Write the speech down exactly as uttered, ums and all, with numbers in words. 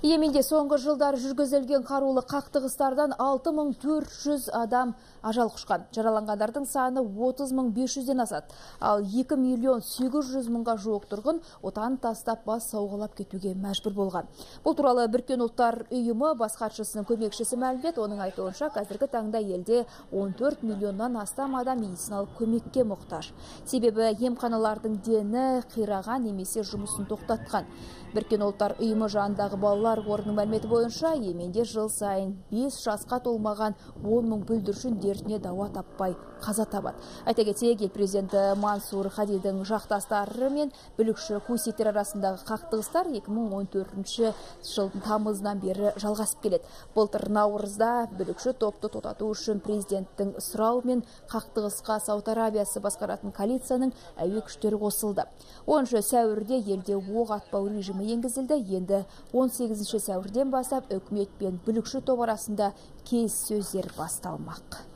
Йеменде соңғы жылдар жүргізілген қарулы қақтығыстардан алты мың төрт жүз адам ажал құшқан. Жараланғандардың саны отыз мың бес жүзден асады. Ал екі миллион сегіз жүз мыңға жуық тұрғын отан тастап бас сауғалап кетуге мәжбүр болған. Бұл туралы Біріккен ұлттар ұйымы бас хатшысының көмекшісі мәлімдеді. Оның айтуынша, қазіргі таңда елде он төрт миллионнан астам адам медициналық көмекке мұқтаж. Себебі емханалардың дені қираған немесе жұмысын тоқтатқан. Біріккен ұлттар ұйымы жанындағы балалар қорының мәліметі бойынша, Йеменде жыл сайын бес жасқа толмаған он мың бүлдіршін дертіне дауа таппай қаза табады. Айта кетейік, ел президенті Мансур Хадидің жақтастары мен бүлікші хуситтер арасындағы қақтығыстар екі мың он төртінші жылдың тамызынан бері жалғасып келеді. Былтыр наурызда бүлікші топты тоқтату үшін президенттің сұрауымен қақтығысқа Сауд Арабиясы басқаратын коалицияның әуе күштері қосылды. оныншы сәуірде елде оқ атпау режимі енгізілді. Енді он сегізінші сәуірден бастап үкімет пен бүлікші топ арасында келіссөздер басталмақ.